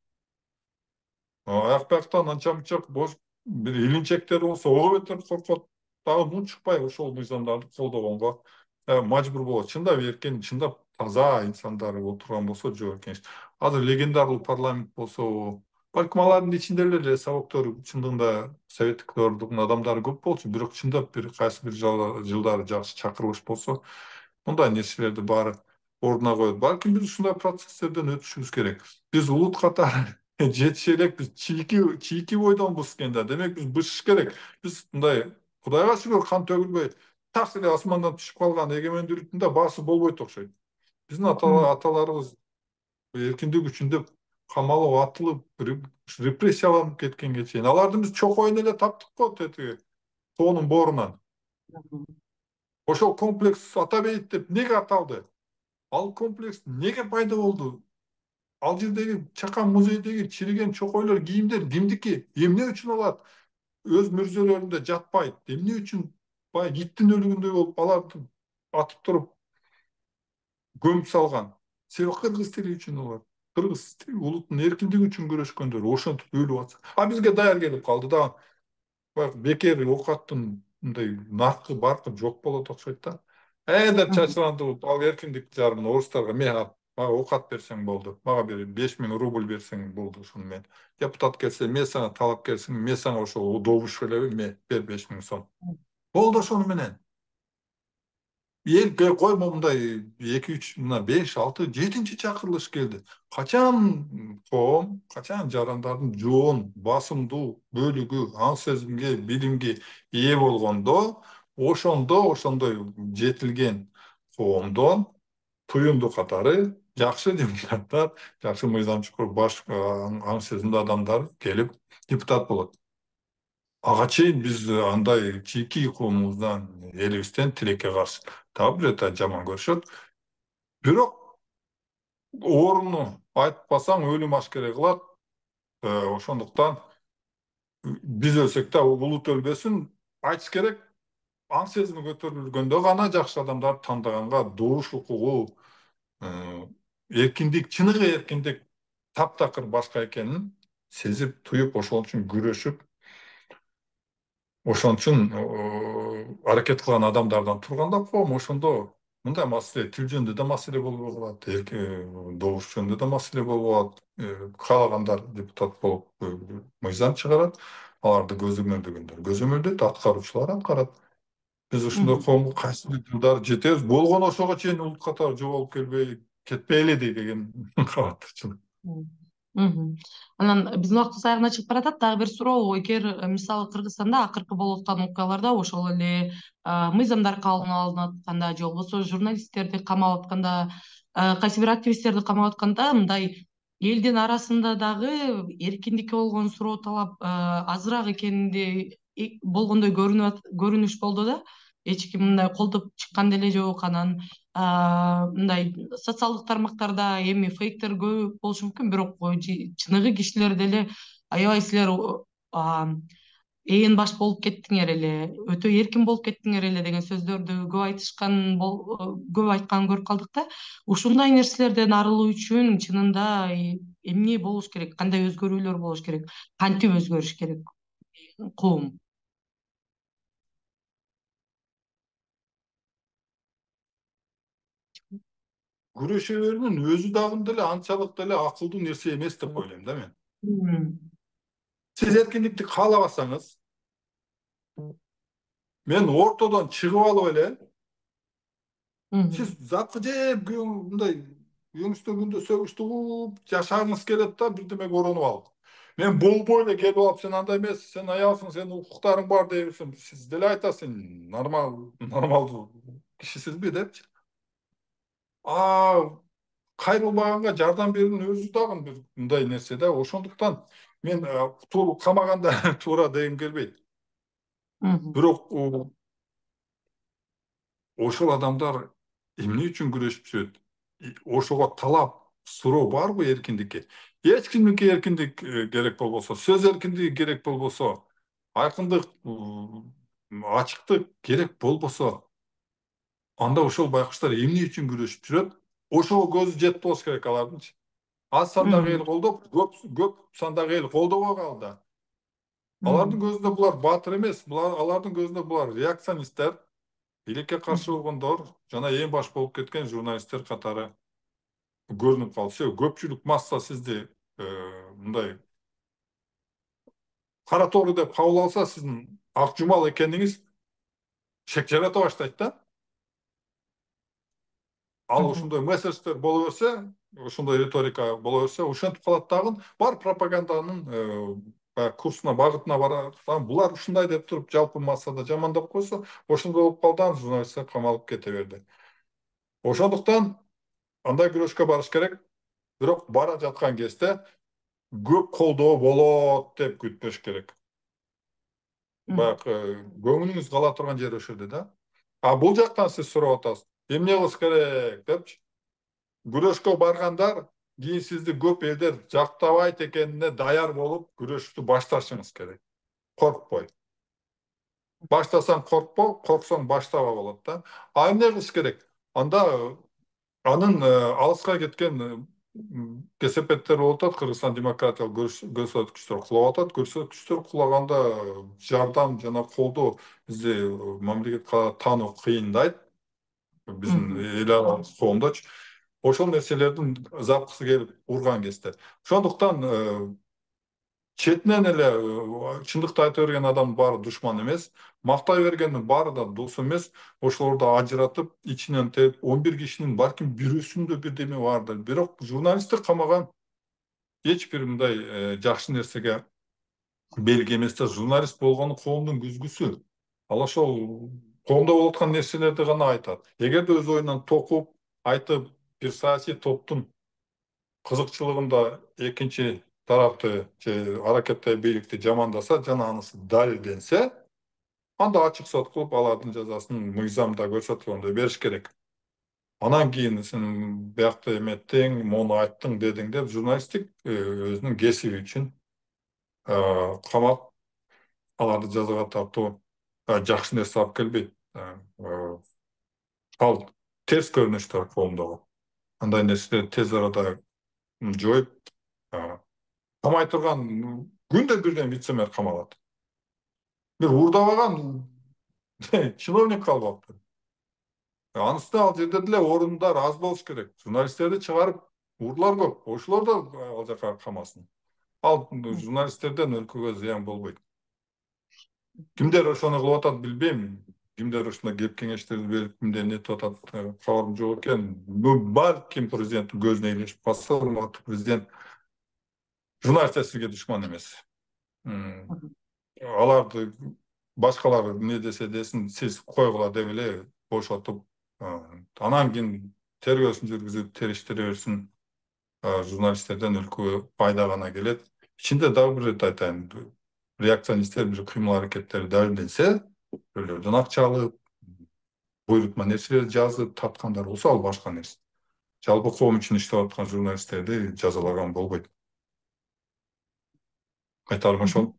Аяк бияктан анча мынча бош бир илинчектер болсо ого бетер коркот. Дагы мун чыкпай ошол мыйзамдарды колдогонго. мажбур болот. Чындап эркен, чындап таза инсандар отурган болсо жок экен. Азыр легендарлуу парламент болсо, балким алардын ичинде эле совоктор чындыгында советтик дöwрдүн адамдары көп болчу, бирок чындап бир кайсы бир жылдары жакшы чакырылыш болсо, мындай нерселерди баары ордуна коет. Балким биз ушундай процесстерден өтүшүбүз керек. Биз улут катары жетише элекпиз. Чийки чийки бойдонбуз экен да. Демек биз бышыш керек. Биз мындай Кудайга шүгүр кан төгүлбөй тарс эле асмандан түшүп калган эгемендүүлүктүн да баасы болбойт окшойт. Биздин аталарыбыз эркиндик үчүн деп камалып, атылып, репрессияланып кеткенге чейин аларды биз чокойун эле таптык го тетиги тоонун боорунан. Ошол комплекс Атабейит деп неге аталды? Ал комплекс неге пайда болду? Ал жердеги Чакан музейдеги чириген чокойлор, кийимдер кимдики? Эмне үчүн алат өз мүрзөлөрүндө жатпайт? Эмне үчүн баягы иттин өлүгүндөй болуп аларды атып туруп көмүп салган? Себеби кыргыз тили үчүн алар. Кыргыз тили улуттун эркиндиги үчүн күрөшкөндөр ошентип өлүп атса. А бизге даяр келип калды да. Баягы бекер оокаттын мындай наркы баркы жок болот окшойт да. Э деп чачырандырып, ал эркиндик жарымын орустарга мен мага оокат берсең болду. Мага бир беш миң рубль берсең болду, ушуну мен депутат келсе, мен сага талап келсем, мен сага ошол добуш элеби, мен бер беш миң сом. Болду ошону менен. Эл коймо мындай эки үч мына беш алты жетинчи чакырылыш келди. Качан коом, качан жарандардын жоон басымдуу бөлүгү аң сезимге, билимге ээ болгондо, ошондо ошондой жетилген коомдон туюнду катары жакшы депутаттар, жакшы мыйзамчы баш аң сезимдүү адамдар келип депутат болот. Ага чейин биз андай чийки коомубуздан, элибизден тилекке каршы. Дагы бир өтө жаман көрүшөт. Бирок орунду айтпасаң өлүм ашкере кылат. Ошондуктан биз өлсөк да улут өлбөсүн, айтыш керек. Аң сезими көтөрүлгөндө гана жакшы адамдарды тандаганга добуш укугу, эркиндик, чыныгы эркиндик таптакыр башка экенин сезип, туюп, ошон үчүн күрөшүп, ошон үчүн аракет кылган адамдардан турганда коом, ошондо мындай маселе, тил жөнүндө да маселе болбой калат, добуш жөнүндө да маселе болбой калат. Каалагандар депутат болуп мыйзам чыгарат, аларды көзөмөлдөгөндөр көзөмөлдөйт, аткаруучулар аткарат. Биз ушундай коомго кайсы бир жылдары жетебиз. Болгону ошого чейин улут катары жоголуп келбей кетпейли деген кабаттычылык. Анан биздин убактыбыз аягына чыгып баратат. Дагы бир суроо: эгер мисалы Кыргызстанда акыркы болуп аткан окуяларда ошол эле мыйзамдар кабыл алынып атканда же болбосо журналисттерди камап атканда, кайсы бир активисттерди камап атканда, мындай элдин арасында дагы эркиндикке болгон суроо талап азыраак экенинде болгондой көрүнүш болду да. Эч ким мындай колдоп чыккан деле жок. Анан мындай социалдык тармактарда эми фейктер көп болушу мүмкүн, бирок чыныгы кишилер деле аябай силер ээн баш болуп кеттиңер эле, өтө эркин болуп кеттиңер эле деген сөздөрдү көп айтышкан, көп айтканын көрүп калдык да. Ушундай нерселерден арылуу үчүн чынында эмне болуш керек? Кандай өзгөрүүлөр болуш керек? Кантип өзгөрүш керек коом? Күрөшүүлөрүнүн өзү дагы деле анчалык деле акылдуу нерсе эмес деп ойлойм да мен. Сиз эркиндикти каалабасаңыз, мен ортодон чыгып алып эле, сиз заткы жеп мындай өңүстөгүндө сөгүштү угуп жашагыңыз келет да, бирдемеге оронуп алып. Мен болбой эле келип алып, сен андай эмес, сен аялсың, сенин укуктарың бар дейбирсиң. Сиз деле айтасың, нормал, нормалдуу кишисизби депчи. А кайрылбаганга жардам берүүнүн өзү дагы бир мындай нерсе да. Ошондуктан мен камаганда туура дегим келбейт. Бирок ошол адамдар эмне үчүн күрөшүп жүрөт? Ошого талап, суроо барбы эркиндикке? Эч кимдики эркиндик керек болбосо, сөз эркиндиги керек болбосо, айкындык, ачыктык керек болбосо, анда ошол байкуштар эмне үчүн күрөшүп жүрөт? Ошого көзү жетип болуш керек алардынчы. Аз сандагы эл колдоп, көп көп сандагы эл колдобой калды. Алардын көзүндө булар баатыр эмес, булар алардын көзүндө булар реакционисттер. Билекке каршы болгондор жана эң баш болуп кеткен журналисттер катары көрүнүп калды. Себеби көпчүлүк масса сизди мындай кара тоору деп кабыл алса, сиздин ак жумал экениңиз шек жарата баштайт да. Ал ошондой месседждер боло берсе, ошондой риторика боло берсе, ошентип калат дагы, бар пропаганданын курсуна, багытына барат. Булар ушундай деп туруп жалпы массада жамандап койсо, ошондой болуп калды, журналисттер камалып кете берди. Ошондуктан андай күрөшкө барыш керек. Бирок бара жаткан кезде көп колдоо болот деп күтпөш керек. Баягы көңүлүңүз кала турган жер ошол жерде да. А бул жактан сиз сурап атасыз. Эмне кылыш керек депчи. Күрөшкө баргандар кийин сизди көп элдер жактабайт экенине даяр болуп күрөштү башташыңыз керек. Коркпой. Баштасаң коркпо, корксоң баштаба болот да. А эмне кылыш керек? Анда анын алыска кеткен кесепеттер болуп атат. Кыргызстан демократиялык көрсөткүчтөр кулап атат. Көрсөткүчтөр кулаганда жардам жана колдоо бизди мамлекетке таануу кыйындайт. Биздин эл аралык коомдочу. Ошол нерселердин запкысы келип урган кезде. Ошондуктан четинен эле чындыкты айта берген адам баары душман эмес, мактай бергендин баары да дос эмес. Ошолорду ажыратып, ичинен терип, он бир кишинин балким бирөөсүндө бирдеме бардыр. Бирок журналистти камаган эч бир мындай жакшы нерсеге белги эмес да. Журналист болгону коомдун күзгүсү. Ал ошол коомдо болуп аткан нерселерди гана айтат. Эгерде өз оюнан токуп, айтып, бир саясий топтун кызыкчылыгында экинчи тарапты же аракеттеги бийликти жамандаса жана анысы далилденсе, анда ачык сот кылып алардын жазасын мыйзамда көрсөтүлгөндөй бериш керек. Анан кийин сен биякта эметтиң, мону айттың, дедиң деп журналисттик өзүнүн кесиби үчүн камап аларды жазага тартуу жакшы нерсе алып келбейт. Ал терс көрүнүштөр коомдогу. Андай нерселерди тез арада жоюп, камай турган күндө бирден вице-мэр камалат. Бир уурдабаган чиновник калбаптыр. Анысы ал жерде деле орундар аз болуш керек. Журналисттерди чыгарып, уурлар көп. Ошолор да ал жака камасын. Ал журналисттерден өлкөгө зыян болбойт. Кимдер ошону кылып атат билбейм. Кимдер ушундай кеп кеңештерди берип, кимдер нетип атат, кабарым жок экен. Балким президенттин көзүнө илешип калса, урматтуу президент, журналисттер сизге душман эмес. Аларды башкалар эмне десе десин, сиз койгула деп эле бошотуп, анан кийин тергөөсүн жүргүзүп, териштире берсин. Журналисттерден өлкөгө пайда гана келет. Ичинде дагы бир ирет айтайын. Реакционисттер бир кыймыл аракеттери далилденсе, өлөрдөн акча алып, буйрутма нерселерди жазып тарткандар болсо, ал башка нерсе. Жалпы коом үчүн иштеп аткан журналисттерди жазалаган болбойт. Айтарым ошол.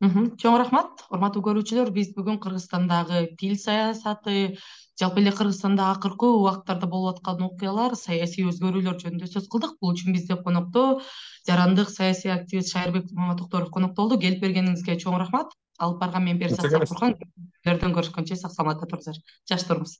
Чоң рахмат, урматтуу көрүүчүлөр. Биз бүгүн Кыргызстандагы тил саясаты, жалпы эле Кыргызстанда акыркы убакыттарда болуп аткан окуялар, саясий өзгөрүүлөр жөнүндө сөз кылдык. Бул үчүн бизде конокто жарандык саясий активист Шайырбек Маматокторов конокто болду. Келип бергениңизге чоң рахмат. Алып барган мен Берсат Сапурхан. Көрдөн көрүшкөнчө сак саламатта туруңуздар. Жакшы туруңуз.